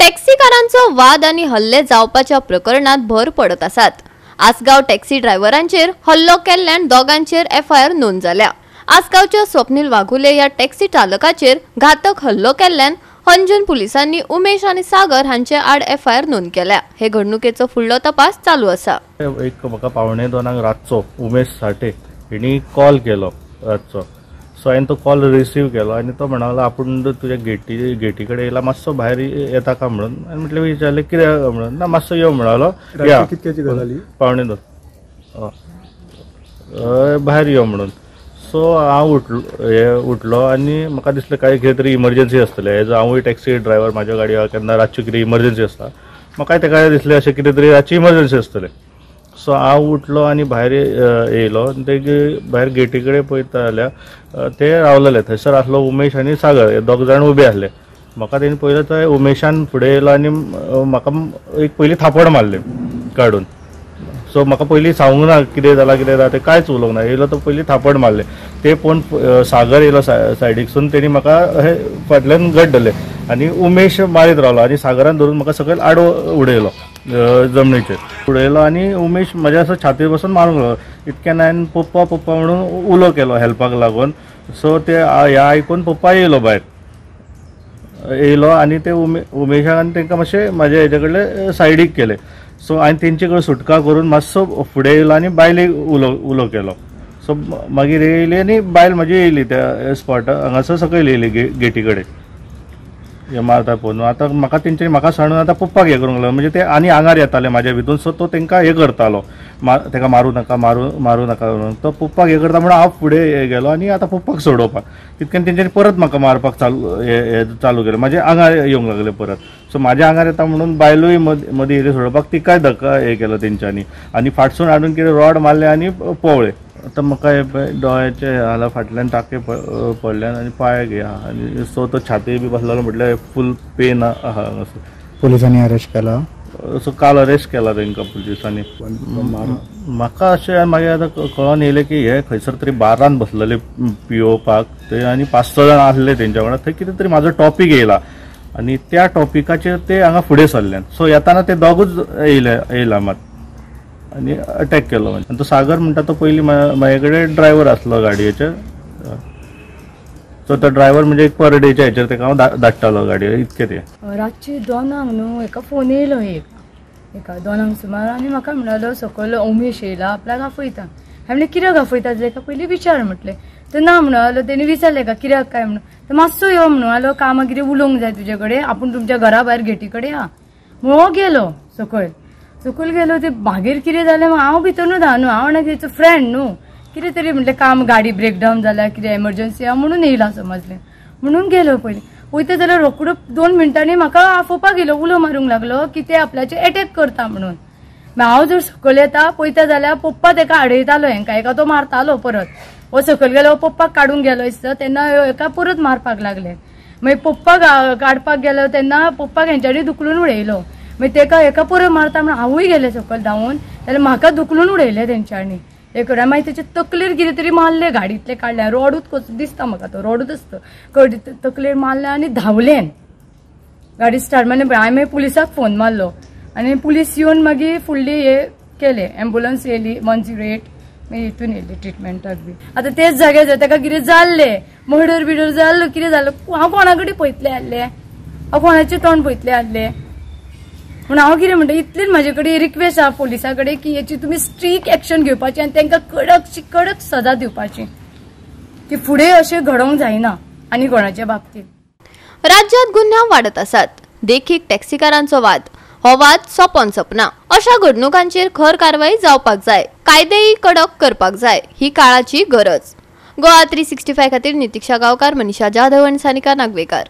टॅक्सीकारांचो वाद आनी हल्ले जावपाच्या प्रकरणात भर पडत आसात। आसगांव टॅक्सी ड्रायव्हरांचेर हल्लो केल्ल्यान दोगांचेर एफआयआर नोंद जाल्या। आसगांवच्या स्वप्नील वाघुले ह्या टॅक्सी चालकाचेर घातक हल्लो केल्ल्यान हंजून पुलिसांनी उमेश आनी सागर हांचे आड एफआयआर नोंद केल्या। हे घडणुकेचो फुडलो तपास चालू आसा। एक म्हाका 1:45 रातचो उमेश साठे हिणी कॉल केलो रातचो। सो हांवें तो कॉल रिसीव केलो आनी तो म्हणालो आपूण तुज्या गेटी कडेन येयला, मातसो भायर येता का म्हणून। आनी म्हटलें विचारलें कित्याक म्हणून, ना मातसो यो म्हणालो। या कितक्याची गजाली 1:45 भायर यो म्हणून। सो हांव उठलो आनी म्हाका दिसलें काय कितें तरी इमर्जन्सी आसतलें। एज हांवूय टॅक्सी ड्रायव्हर, म्हाज्या गाडयेर केन्ना रातची कितें इमर्जन्सी आसता, म्हाकाय तेका दिसलें अशें कितें तरी रातची इमर्जन्सी आसतलें। सो हांव उठलो आनी भायर येयलो। ते भायर गेटी कडेन पळयता जाल्यार ते रावलेले, थंयसर आसलो उमेश आनी सागर, हे दोग जाण उबे आसले। म्हाका तेणी पळयलो थंय उमेशान फुडें येयलो आनी म्हाका एक पयलीं थापड मारलें काडून। सो म्हाका पयलीं सांगूंक ना कितें जालां कितें जालां तें कांयच उलोवंक ना। येयलो तो पयलीं थापड मारलें, ते पळोवन सागर येयलो सायडीकसून, तेणी म्हाका हे फाटल्यान घट धरलें आनी उमेश मारीत रावलो आनी सागरान धरून म्हाका सकयल आडवो उडयलो, जमनीचेर उडयलो आनी उमेश म्हज्या असो छातयेर बसून मारूंक लागलो। इतक्यान हांवें पप्पा पप्पा म्हणून उलो केलो हेल्पाक लागून। सो ते हें आयकून पप्पा येयलो भायर येयलो आनी ते उमेशाक आनी तांकां मातशें म्हाज्या हेजे कडले सायडीक केले। सो हांवें तेंचे कडेन सुटका करून मातसो फुडें येयलो आनी बायलेक उलो केलो। सो मागीर येयली आनी बायल म्हजी येयली त्या स्पॉटार हांगासर सकयल येयली गेटी कडेन हे मारता पळोवन। आतां म्हाका तेंच्यांनी म्हाका सांडून आतां पप्पाक हें करूंक लागलो, म्हणजे ते आनी आंगार येताले म्हाज्या भितून। सो तो तांकां हें करतालो, ताका मारूं नाका मारूं नाका म्हणून। तो पप्पाक हें करता म्हणून हांव फुडें गेलो आनी आतां पप्पाक सोडोवपाक तितक्यान तेंच्यांनी परत म्हाका मारपाक चालू केलें, म्हाज्या आंगार येवंक लागले परत। सो म्हाज्या आंगार येता म्हणून बायलूय मदीं येयली सोडोवपाक, तिकाय धक्का हें केलो तेंच्यांनी आनी फाटसून हाडून कितें रॉड मारलें आनी पोवळे। आतां म्हाका हे दोळ्याचे हाला फाटल्यान टाके पडल्यान आनी पांयाक हे आहा आनी सो तो छाती बी बसलेलो, म्हटल्यार फूल पेन आहा हांगासर। पुलिसांनी अरेस्ट केला? सो काल अरेस्ट केला तांकां पुलिसांनी। म्हाका अशें मागीर आतां कळोन येयलें की हे खंयसर तरी बारान बसलेले पियोवपाक ते आनी 5-6 जाण आसले तेंच्या वांगडा। थंय कितें तरी म्हाजो टॉपीक येयला आनी त्या टॉपिकाचेर ते हांगा फुडें सरल्यान। सो येताना ते दोगूच येयला मात आनी अटॅक केलो। आनी तो सागर म्हणटा तो पयलीं म्हाजे कडेन ड्रायव्हर आसलो गाडयेचेर। सो तो ड्रायव्हर म्हणजे एक पर डेच्या हेचेर तेका हांव धाडटालो गाडयेर, इतकें तें। रातची 2 न्हू एका फोन येयलो, एका 2 सुमार, आनी म्हाका म्हणालो सकयल उमेश येयला आपल्याक आफयता। हांवें म्हणलें कित्याक आफयता तेका पयलीं विचार म्हटलें। तर ना म्हणलो, तेणी विचारलें का कित्याक काय म्हणून। तर मातसो यो म्हणलो, कामां कितें उलोवंक जाय तुजे कडेन, आपूण तुमच्या घरा भायर गेटी कडेन या म्हणून गेलो सकयल। सकयल गेलो ते मागीर कितें जालें हांव भितरनूच आहा न्हू, हांव म्हणलें तेचो फ्रेंड न्हू, कितें तरी म्हटलें काम गाडी ब्रेकडावन जाल्या कितें एमर्जन्सी आहा म्हणून येयला समजलें म्हणून गेलो। पयलीं वयता जाल्यार रोकडो 2 मिनटांनी म्हाका आफोवपाक येयलो, उलो मारूंक लागलो की ते आपल्याचेर एटॅक करता म्हणून। हांव जर सकयल येता पळयता जाल्यार पप्पा तेका आडयतालो, हेंका एका तो मारतालो परत। हो सकयल गेलो पप्पाक काडूंक गेलो दिसता तेन्ना हेका परत मारपाक लागले। मागीर पप्पाक काडपाक गेलो तेन्ना पप्पाक हेंच्यांनी धुकलून उडयलो। मागीर तेका हेका परत मारता म्हणून हांवूय गेलें सकयल धांवून, जाल्यार म्हाका धुकलून उडयलें तेंच्यांनी। हे करून मागीर तेचे तकलेर कितें तरी मारलें, गाडयेंतलें काडलें, रोडूच कसो दिसता म्हाका तो रोडूच आसता, तकलेर मारलें आनी धांवलें गाडी स्टार्ट मारलें। हांवें मागीर पुलिसाक फोन मारलो आनी पुलीस येवन मागीर फुडली हे केलें, एम्बुलन्स येयली 108 मागीर हितून येयली ट्रिटमेंटाक बी। आतां तेच जाग्यार जर तेका कितें जाल्लें, मर्डर बिर्डर जाल्लो कितें जाल्लो, हांव कोणा कडेन पळयतलें आसलें, हांव कोणाचें तोंड पळयतलें आसलें। पूण हांव कितें म्हणटा, इतलीच म्हाजे कडेन रिक्वेस्ट आहा पुलिसां कडेन की हेची तुमी स्ट्रीक एक्शन घेवपाची आनी तांकां कडकशी कडक सजा दिवपाची की फुडें अशें घडोवंक जायना आनी कोणाच्या बाबतींत। राज्यांत गुन्यांव वाडत आसात, देखीक टॅक्सीकारांचो वाद। हो वाद सोंपोन सोंपना। अशा घडणुकांचेर खर कारवाई जावपाक जाय, कायदेय कडक करपाक जाय, ही काळाची गरज। गोवा 365 खातीर नितीक्षा गांवकार, मनीषा जाधव आनी सानिका नागवेकार।